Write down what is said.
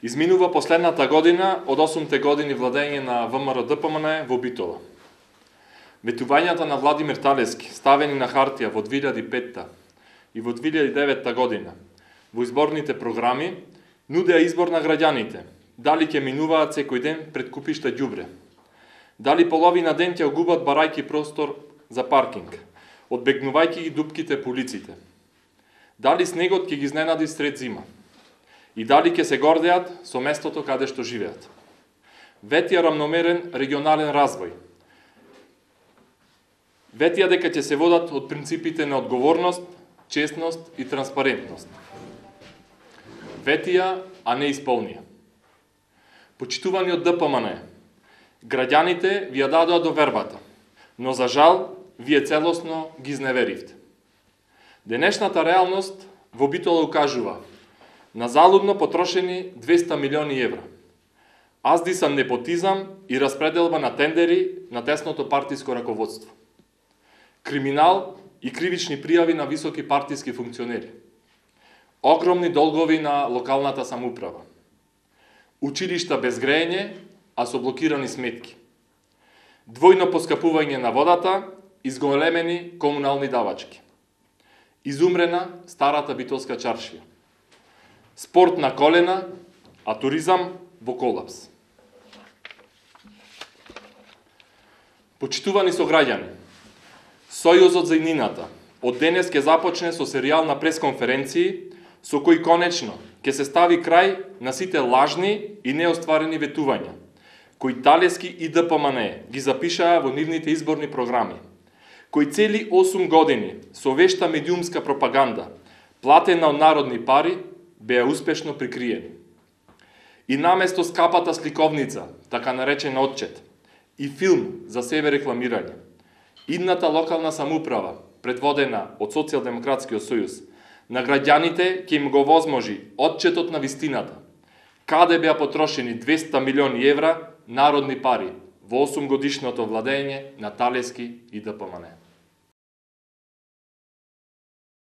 Изминува последната година од 8 години владење на ВМРО-ДПМН во Битола. Ветувањата на Владимир Талевски, ставени на хартија во 2005 и во 2009 година во изборните програми, нудеа избор на граѓаните, дали ќе минуваат секој ден пред купишта ѓубре, дали половина ден ќе губат барајки простор за паркинг, одбегнувајќи ги дупките по улиците, дали снегот ќе ги изненади сред зима, и дали ќе се гордеат со местото каде што живеат. Ветија рамномерен регионален развој. Ветија дека ќе се водат од принципите на одговорност, честност и транспарентност. Ветија, а не исполнија. Почитувани од ДПМН, граѓаните ви ја дадоа довербата, но за жал, вие целосно ги изневеривте. Денешната реалност во Битола укажува на залудно потрошени 200 милиони евра, аздисан непотизам и распределба на тендери на тесното партиско раководство, криминал и кривични пријави на високи партиски функционери, огромни долгови на локалната самоуправа, училишта без грејење, а со блокирани сметки, двојно поскапување на водата и зголемени комунални давачки, изумрена старата битолска чаршија, спорт на колена, а туризам во колапс. Почитувани сограѓани, Сојузот за иднината од денес ќе започне со серијал на пресконференции со кои конечно ќе се стави крај на сите лажни и неостварени ветувања, кои Талевски и ДПМН ги запишаа во нивните изборни програми, кои цели 8 години со вешта медиумска пропаганда, платена од народни пари, беа успешно прикриени. И наместо скапата сликовница, така наречен отчет, и филм за себе рекламирање, идната локална самоуправа, предводена од Социјалдемократскиот сојуз, на граѓаните ќе им го возможи отчетот на вистината, каде беа потрошени 200 милиони евра народни пари во 8 годишното владење на Талевски и ДПМН.